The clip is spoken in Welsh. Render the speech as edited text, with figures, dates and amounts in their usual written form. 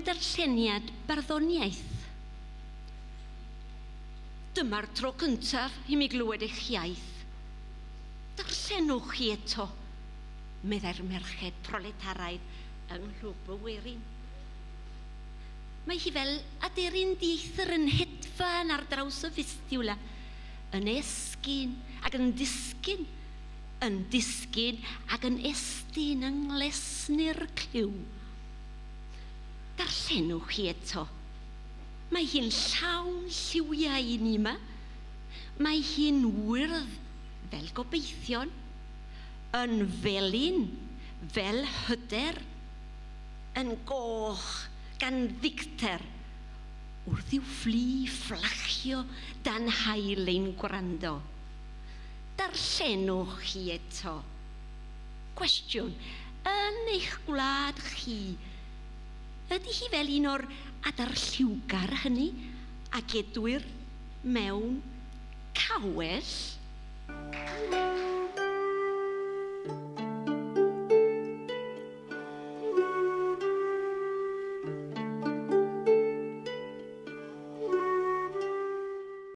darlleniad barddoniaeth? Dyma'r tro cyntaf i mi glywed eich iaith. Darllenwch chi eto, meddai'r merched proletaraidd yng Nghlwb y Werin. Mae hi fel aderyn dieithr yn hedfan ar draws y Vistula, yn esgyn ac yn disgyn, yn disgyn ac yn estyn yng nglesni'r clyw. Darllenwch chi eto. Mae hi'n llawn lliwiau i ni yma. Mae hi'n wyrdd fel gobeithion, yn felyn fel hyder, yn goch gan ddicter wrth i'w fflu fflachio dan haul ein gwrando. Darllenwch chi eto. Cwestiwn, yn eich gwlad chi, ydy hi fel un o'r adar lliwgar hynny a gedwir mewn cawell?